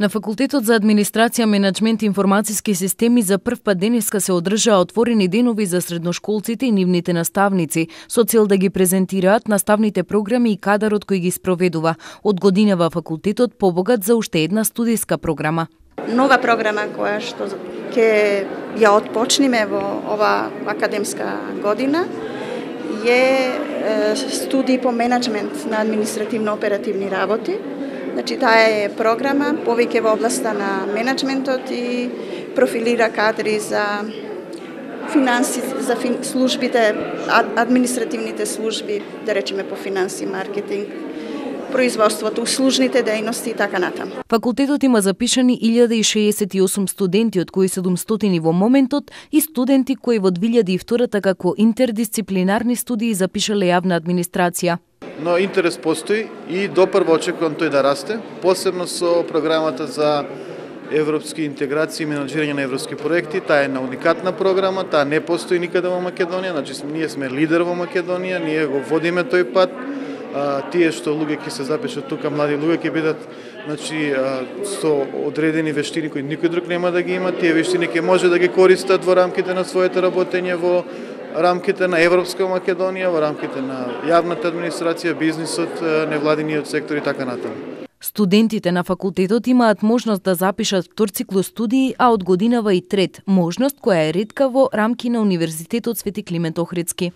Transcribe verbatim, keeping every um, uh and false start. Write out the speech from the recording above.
На Факултетот за администрација, менаџмент и информациски системи за прв пат денеска се одржаа отворени денови за средношколците и нивните наставници, со цел да ги презентираат наставните програми и кадарот кој ги спроведува. Од годинава факултетот побогат за уште една студиска програма. Нова програма која што ќе ја отпочнеме во ова академска година е студии по менаџмент на административно-оперативни работи. Значи, таа е програма повеќе во областа на менаџментот и профилира кадри за финанси, за фин, службите, административните служби, да речеме по финанси, маркетинг, производството, услужните дејности и така натаму. Факултетот има запишани илјада и шеесет и осум студенти, од кои седумстотини во моментот, и студенти кои во две илјади и втора како интердисциплинарни студии запишале јавна администрација. Но интерес постои и допрво очекувам тој да расте, посебно со програмата за европски интеграции и менаџирање на европски проекти. Таа е една уникатна програма, таа не постои никаде во Македонија, значи ние сме лидер во Македонија, ние го водиме тој пат. А, тие што луѓе ќе се запишат тука, млади луѓе ќе бидат, значи, а, со одредени вештини кои никој друг нема да ги има. Тие вештини ќе може да ги користат во рамките на своето работење во рамките на Европска Македонија, во рамките на јавната администрација, бизнисот, невладиниот сектор и така натаму. Студентите на факултетот имаат можност да запишат втор циклус студии, а од годинава и трет, можност која е ретка во рамки на Универзитетот Свети Климент Охридски.